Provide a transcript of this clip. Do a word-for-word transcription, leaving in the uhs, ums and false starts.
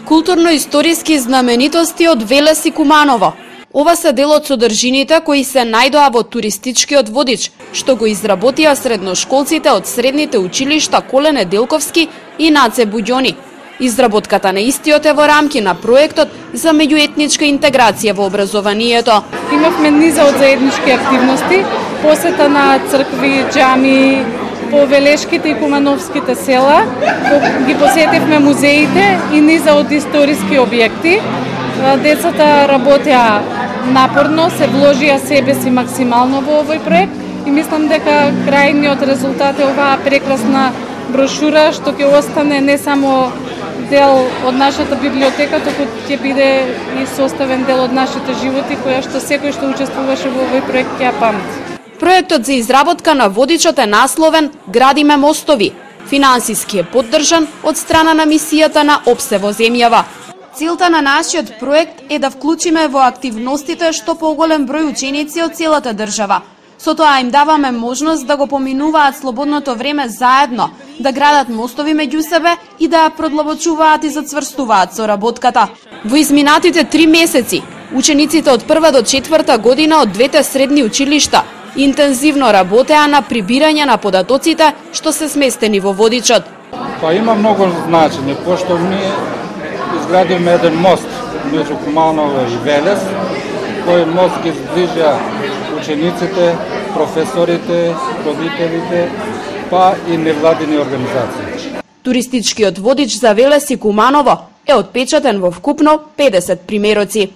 Културно-историски знаменитости од Велес и Куманово. Ова се дел од содржините кои се најдоа во туристичкиот водич, што го изработија средношколците од средните училишта Коле Неделковски и Наце Буѓони. Изработката на истиот е во рамки на проектот за меѓуетничка интеграција во образованието. Имавме низа од заеднички активности, посета на цркви, џами, по Велешките и Кумановските села, ги посетивме музеите и низа од историски објекти. Децата работеа напорно, се вложија себе си максимално во овој проект и мислам дека крајниот резултат е оваа прекрасна брошура што ќе остане не само дел од нашата библиотека, туку ќе биде и составен дел од нашите животи, која што секој што учествуваше во овој проект ќе ја памти. Проектот за изработка на водичот е насловен "Градиме мостови". Финансиски е поддржан од страна на мисијата на Опсе во земјава. Целта на нашиот проект е да вклучиме во активностите што поголем број ученици од целата држава. Со тоа им даваме можност да го поминуваат слободното време заедно, да градат мостови меѓу себе и да ја продлабочуваат и зацврстуваат соработката. Во изминатите три месеци, учениците од прва до четврта година од двете средни училишта интензивно работеа на прибирање на податоците што се сместени во водичот. Па има многу значење, пошто ние изградивме еден мост меѓу Куманово и Велес, кој мост ги зближа учениците, професорите, родителите, па и невладини организации. Туристичкиот водич за Велес и Куманово е отпечатен во вкупно педесет примероци.